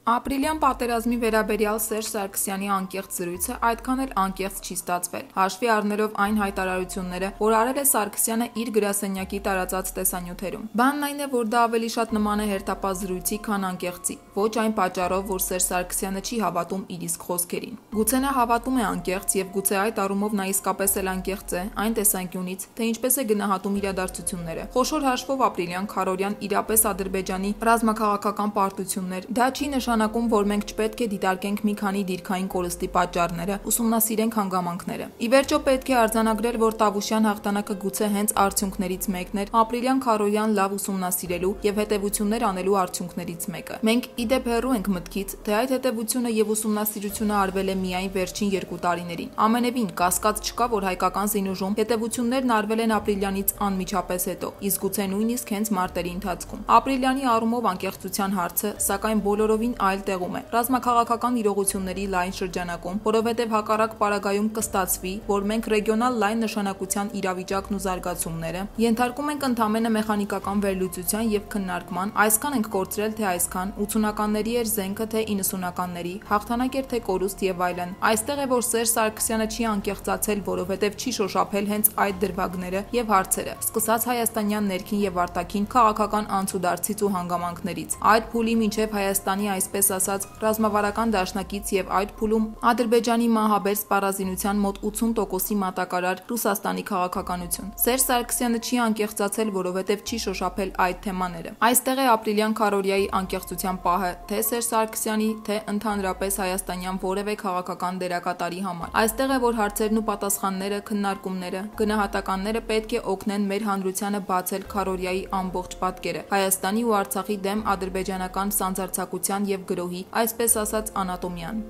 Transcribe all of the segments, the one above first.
Ապրիլյան պատերազմի վերաբերյալ Սերժ Սարգսյանի անկեղծ զրույցը այդքան էլ անկեղծ չի ստացվել, հաշվի առնելով այն հայտարարությունները, որ արել է Սարգսյանը իր գրասենյակի տարածած տեսանյութերում։ Բանն այն է, որ դա ավելի շատ նման է հերթապահ զրույցի, քան անկեղծի, ոչ այն պատճառով, որ Սերժ Սարգսյանը չի հավատում իր իսկ խոսքերին։ Գուցե նա հավատում է անկեղծ եւ գուցե այդ առումով նա իսկապես էլ անկեղծ է այն տեսանկյունից, թե ինչպես է գնահատում իրադարձությունները։ Խոշոր հաշվով ապրիլյան քարորյան իրապես Ադրբեջանի ռազմաքաղաքական պարտություններ, դա չի նշանակում, որ մենք չպետք է դիտարկենք մի քանի դիրքային կորստի պատճառները, ուսումնասիրենք հանգամանքները։ Ի վերջո պետք է արձանագրել, որ Տավուշյան հաղթանակը գուցե հենց արդյունքներից մեկն էր ապրիլյան քարորյան լավ ուսումնասիրելու եւ հետեւություններ անելու արդյունքներից մեկը։ Մենք ի դեպ հեռու ենք մտքից, թե այդ հետեւությունը եւ ուսումնասիրությունը արվել է միայն վերջին 2 տարիներին։ Ամենևին կասկած չկա, որ հայկական զինուժում հետեւություններն արվել են ապրիլյանից անմիջապես հետո, իսկ գուցե նույնիսկ հենց մարտերի ընթացքում։ Ապրիլյանի առումով անկեղծության հարցը, սակայն բոլորովին այլ տեղում է։ Ռազմաքաղաքական իրողությունների լայն շրջանակում, որովհետև հակառակ պարագայում կստացվի, որ մենք ռեգիոնալ լայն նշանակության իրավիճակն ու զարգացումները ենթարկում ենք ընդամենը մեխանիկական վերլուծության եւ քննարկման, այսքան ենք կորցրել, թե այսքան 80-ականների էր զենքը, թե 90-ականների, հաղթանակ էր, թե կորուստ եւ այլն։ Այստեղ է, որ Սերժ Սարգսյանը չի անկեղծացել, որովհետև չի շոշափել հենց այդ դրվագները եւ հարցերը, սկսած հայաստանյան ներքին եւ արտաքին քաղաքական անցուդարձից ու հանգամանքներից։ Այդ փուլի մինչեւ Հայաստանի այսպես ասած ռազմավարական դաշնակից եւ այդ փուլում Ադրբեջանի մահաբեր սպառազինության մոտ 80%-ի մատակարար Ռուսաստանի քաղաքականություն։ Սերժ Սարգսյանը չի անկեղծացել, որովհետև չի շոշափել այդ թեմաները։ Այստեղ է ապրիլյան քարորիայի անկեղծության պահը, թե Սերժ Սարգսյանի, թե ընդհանրապես հայաստանյան որևէ քաղաքական դերակատարի համար։ Այստեղ է, որ հարցերն ու պատասխանները, քննարկումները, գնահատականները պետք է օգնեն մեր հանրությանը բացել քարորիայի ամբողջ պատկերը, Հայաստանի ու Արցախի դեմ ադրբեջանական սանձարձակության եւ գրոհի, այսպես ասած, անատոմիան։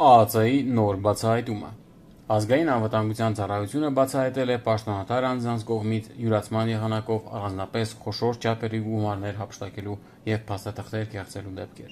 ԱԱԾ-ի նոր բացահայտումը։ Ազգային անվտանգության ծառայությունը բացահայտել է պաշտոնատար անձանց կողմից յուրացման եղանակով առանձնապես խոշոր չափերի գումարներ հափշտակելու եւ փաստաթղթեր կեղծելու դեպքեր։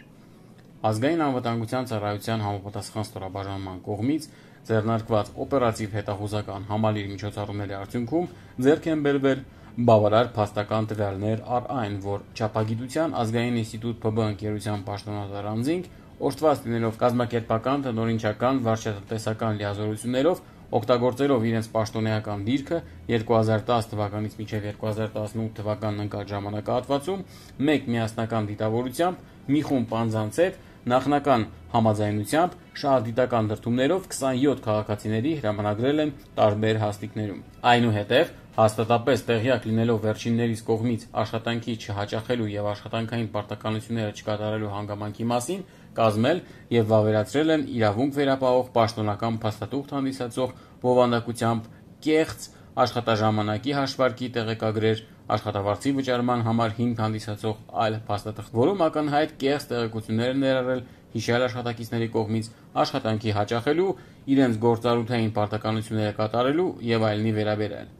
Ազգային անվտանգության ծառայության համապատասխան ստորաբաժանման կողմից ձեռնարկված օպերատիվ հետախուզական համալիր միջոցառումների արդյունքում ձեռք են բերվել բավարար փաստական տվյալներ առ այն, որ Չափագիտության ազգային ինստիտուտ ՓԲ ընկերության պաշտոնատար անձինք օժտված լինելով կազմակերպական, տնօրինչական, վարչատնտեսական լիազորություններով, օգտագործելով իրենց պաշտոնեական դիրքը 2010 թվականից մինչև 2018 թվականն ընկած ժամանակահատվածում մեկ միասնական դիտավորությամբ մի խումբ անձանց հետ նախնական համաձայնությամբ շահադիտական դրդումներով 27 քաղաքացիների հրամանագրել են տարբեր հաստիկներում։ Այնուհետև հաստատապես տեղյակ լինելով վերջիններիս կողմից աշխատանքի չհաճախելու եւ աշխատանքային պարտականությունները չկատարելու հանգամանքի մասին, կազմել եւ վավերացրել են իրավունք վերապահող պաշտոնական փաստաթուղթ հանդիսացող բովանդակությամբ կեղծ աշխատաժամանակի հաշվարկի տեղեկագրեր, աշխատավարձի վճարման համար հիմք հանդիսացող այլ փաստաթղթ, որում ակնհայտ կեղծ տեղեկություններ են ներառել հիշյալ աշխատակիցների կողմից աշխատանքի հաճախելու, իրենց գործառութային պարտականությունները կատարելու եւ այլնի վերաբերյալ։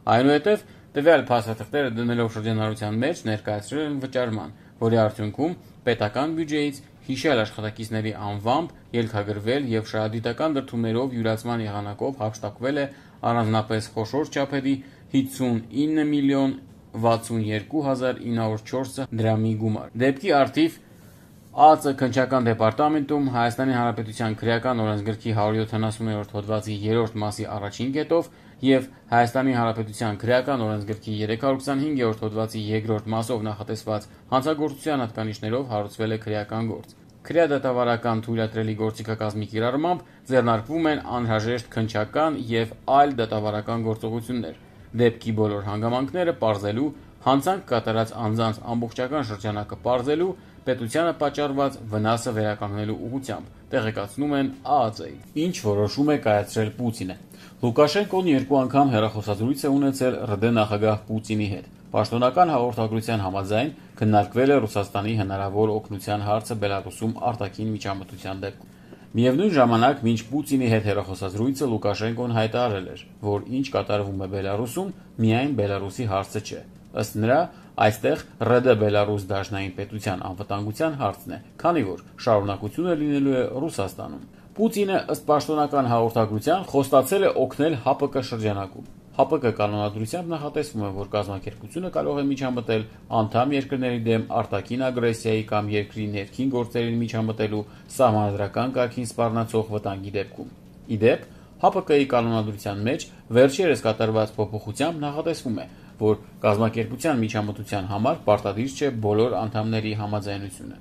Այնուհետև տվյալ փաստաթղթերը դնելով շրջանառության մեջ ներկայացրել են վճարման, որի արդյունքում պետական բյուջեից հիշյալ աշխատակիցների անվամբ ելքագրվել եւ շահադիտական դրդումներով յուրացման եղանակով հափշտակվել է առանձնապես խոշոր չափերի 59 միլիոն 62.904 դրամի գումար։ Դեպքի արդիվ ԱԱԾ քննչական դեպարտամենտում Հայաստանի Հանրապետության քրեական օրենսգրքի 170-րդ հոդվածի 3-րդ մասի առաջին կետով եւ Հայաստանի Հանրապետության քրեական օրենսգրքի 325-րդ հոդվածի 2-րդ մասով նախատեսված հանցագործության հատկանիշներով հարուցվել է քրեական գործ։ Քրեադատավարական թույլատրելի գործիքակազմի կիրառմամբ ձեռնարկվում են անհրաժեշտ քննչական եւ այլ դատավարական գործողություններ։ Դեպքի բոլոր հանգամանքները պարզելու, հանցանք կատարած անձանց ամբողջական շրջանակը պարզելու, պետությանը պատճառված վնասը վերականգնելու ուղղությամբ, տեղեկացնում են ԱԱԾ-ին։ Ինչ որոշում է կայացրել Պուտինը։ Լուկաշենկոն 2 անգամ հեռախոսազրույց է ունեցել ՌԴ նախագահ Պուտինի հետ։ Պաշտոնական հաղորդագրության համաձայն քննարկվել է Ռուսաստանի հնարավոր օգնության հարցը Բելարուսում արտաքին միջամտության դեպքում։ Միևնույն ժամանակ, մինչ Պուտինի հետ հեռախոսազրույցը Լուկաշենկոն հայտարարել էր, որ ինչ կատարվում է Բելարուսում, միայն Բելարուսի հարցը չէ։ Ըստ նրա, այստեղ ՌԴ Բելարուս դաշնային պետության անվտանգության հարցն է, քանի որ շարունակությունը լինելու է Ռուսաստանում։ Պուտինը ըստ պաշտոնական հաղորդագրության խոստացել է օգնել ՀԱՊԿ շրջանակում։ ՀԱՊԿ կանոնադրությամբ նախատեսվում է, որ կազմակերպությունը կարող է միջամտել անդամ երկրների դեմ արտաքին ագրեսիայի կամ երկրի ներքին գործերին միջամտելու սահմանադրական կարգին սպառնացող վտանգի դեպքում։ Ի դեպ, ՀԱՊԿ-ի կանոնադրության մեջ վերջերս կատարված փոփոխությամբ նախատեսվում է, որ կազմակերպության միջամտության համար պարտադիր չէ բոլոր անդամների համաձայնությունը։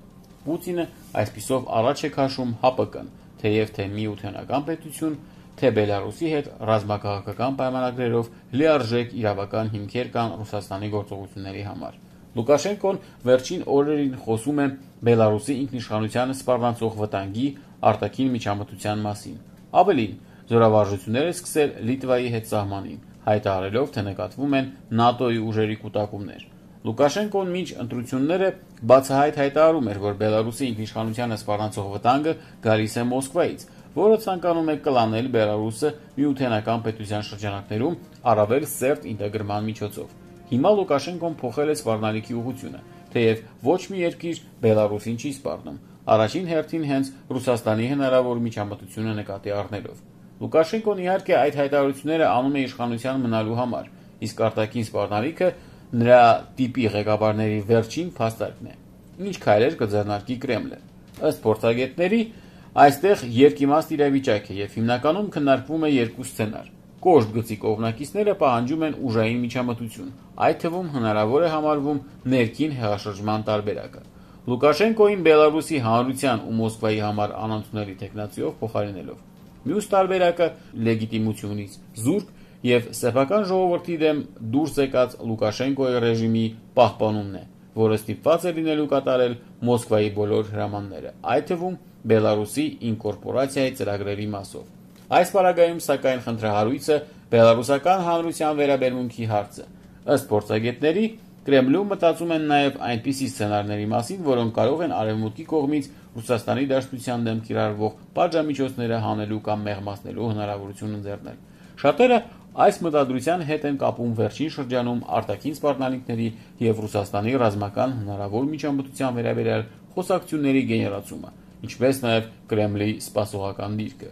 Պուտինը այսպիսով առաջ է քաշում ՀԱՊԿ-ն, թեև թե միութենական պետություն, թե Բելարուսի հետ ռազմաքաղաքական պայմանագրերով լիարժեք իրավական հիմքեր կան Ռուսաստանի գործողությունների համար։ Լուկաշենկոն վերջին օրերին խոսում է Բելարուսի ինքնիշխանությանը սպառնացող վտանգի արտաքին միջամտության մասին։ Ավելին, զորավարժություններ է սկսել Լիտվայի հետ սահմանին, հայտարարելով, թե նկատվում են ՆԱՏՕ-ի ուժերի կուտակումներ։ Լուկաշենկոն մինչ ընտրությունները բացահայտ հայտարարում էր, որ Բելարուսի ինքնիշխանությանը սպառնացող վտանգը գալիս է Մոսկվայից, որը ցանկանում է կլանել Բելարուսը միութենական պետության շրջանակներում առավել սերտ ինտեգրման միջոցով։ Հիմա Լուկաշենկոն փոխել է սպառնալիքի ուղղությունը, թեև ոչ մի երկիր Բելարուսին չի սպառնում, առաջին հերթին հենց Ռուսաստանի հնարավոր միջամտությունը նկատի առնելով։ Լուկաշենկոն իհարկե այդ հայտարարությունները անում է իշխանության մնալու համար, իսկ արտաքին սպառնալիքը նրա տիպի ղեկավարների վերջին փաստարկն է։ Ինչ քայլեր կձեռնարկի Կրեմլը։ Ըստ փորձագետների, այստեղ երկիմաստ իրավիճակ է եւ հիմնականում քննարկվում է երկու սցենար։ Կոշտ գծի կողմնակիցները պահանջում են ուժային միջամտություն, այդ թվում հնարավոր է համարվում ներքին հեղաշրջման տարբերակը։ Լուկաշենկոին Բելարուսի հանրության ու Մոսկվայի համար անընդունելի տեխնացիով փոխարինելով։ Մյուս տարբերակը լեգիտիմությունից զուրկ եւ սեփական ժողովրդի դեմ դուրս եկած Լուկաշենկոյի ռեժիմի պահպանումն է, որը ստիպված է լինելու կատարել Մոսկվայի բոլոր հրամանները, այդ թվում Բելարուսի ինկորպորացիայի ծրագրերի մասով։ Այս պարագայում, սակայն, խնդրահարույցը բելարուսական հանրության վերաբերմունքի հարցը։ Ըստ փորձագետների, Կրեմլում մտածում են նաև այնպիսի սցենարների մասին, որոնք կարող են արևմուտքի կողմից Ռուսաստանի Դաշնության դեմ կիրառվող պատժամիջոցները հանելու կամ մեղմացնելու հնարավորություն ընձեռնել։ Շատերը այս մտադրության հետ են կապում վերջին շրջանում արտաքին սպառնալիքների եւ Ռուսաստանի ռազմական հնարավոր միջամտության վերաբերյալ խոսակցությունների գեներացումը, ինչպես նաև Կրեմլի սպասողական դիրքը։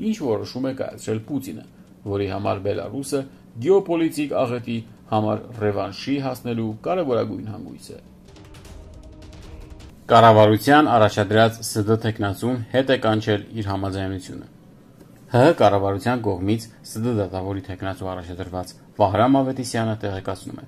Ինչ որոշում է կայացրել Պուտինը, որի համար Բելարուսը գեոպոլիտիկ աղետի համար ռևանշի հասնելու կարևորագույն հանգույց է։ Կառավարության առաջադրած ՍԴ թեկնածուն հետ է կանչել իր համաձայնությունը։ ՀՀ կառավարության կողմից ՍԴ դատավորի թեկնածու առաջադրված Վահրամ Ավետիսյանը տեղեկացնում է.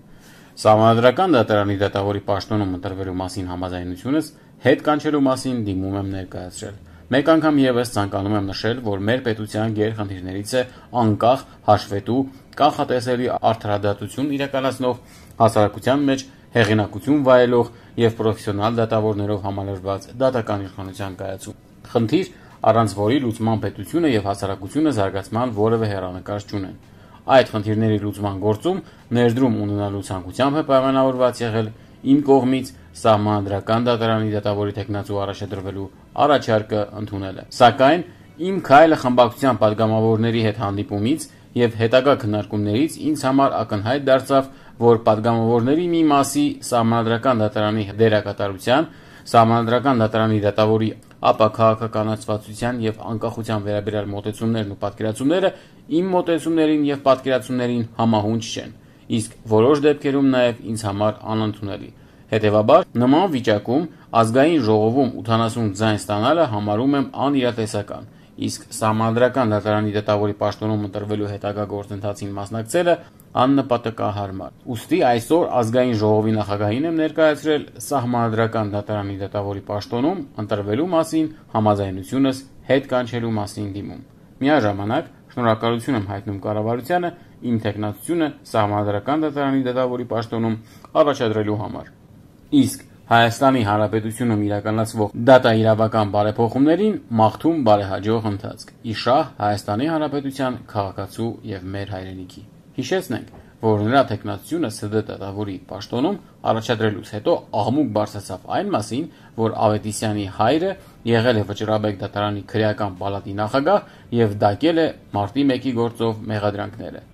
Սահմանադրական դատարանի դատավորի պաշտոնում ընտրվելու մասին համաձայնությունս հետ կանչելու մասին դիմում եմ ներկայացրել։ Մեկ անգամ եւս ցանկանում եմ նշել, որ մեր պետության գերխնդիրներից է անկախ, հաշվետու, կանխատեսելի արդարադատություն իրականացնող, հասարակության մեջ հեղինակություն վայելող եւ պրոֆեսիոնալ դատավորներով համալրված դատական իշխանության կայացում։ Խնդիր, առանց որի լուծման պետությունը եւ հասարակությունը զարգացման որևէ հեռանկար չունեն։ Այդ խնդիրների լուծման գործում ներդրում ունենալու ցանկությամբ է պայմանավորված եղել իմ կողմից սահմանադրական դատարանի դատավորի թեկնածու առաջադրվելու առաջարկը ընդունելը։ Սակայն իմ քայլը խմբակցության падգամավորների հետ հանդիպումից եւ հետագա քննարկումներից ինձ համար ակնհայտ դարձավ, որ падգամավորների մի մասի սահմանադրական դատարանի դերակատարության, սահմանադրական դատարանի դատավորի ապաքաղաքականացվածության եւ անկախության վերաբերյալ մոտեցումներն ու պատկերացումները իմ մոտեցումներին եւ պատկերացումներին համահունչ չեն, իսկ որոշ դեպքերում նաեւ ինձ համար անընդունելի։ Հետևաբար, նման վիճակում ազգային ժողովում 80 ձայն ստանալը համարում եմ անիրատեսական, իսկ սահմանադրական դատարանի դատավորի պաշտոնում ընտրվելու հետագա գործընթացին մասնակցելը աննպատակահարմար։ Ուստի այսօր ազգային ժողովի նախագահին եմ ներկայացրել սահմանադրական դատարանի դատավորի պաշտոնում ընտրվելու մասին համաձայնությունս հետ կանչելու մասին դիմում։ Միաժամանակ շնորհակալություն եմ հայտնում կառավարությանը իմ թեկնածությունը սահմանադրական դատարանի դատավորի պաշտոնում առաջադրելու համար։ Իսկ Հայաստանի Հանրապետությունում իրականացվող դատաիրավական բարեփոխումներին մաղթում բարեհաջող ընթացք։ Իշահ Հայաստանի Հանրապետության քաղաքացու եւ մեր հայրենիքի։ Հիշեցնենք, որ նրա թեկնածությունը ՍԴ դատավորի պաշտոնում առաջադրելուց հետո աղմուկ բարձրացավ այն մասին, որ Ավետիսյանի հայրը եղել է Վճռաբեկ դատարանի քրեական պալատի նախագահ եւ դակել է մարտի 1-ի գործով մեղադրանքները։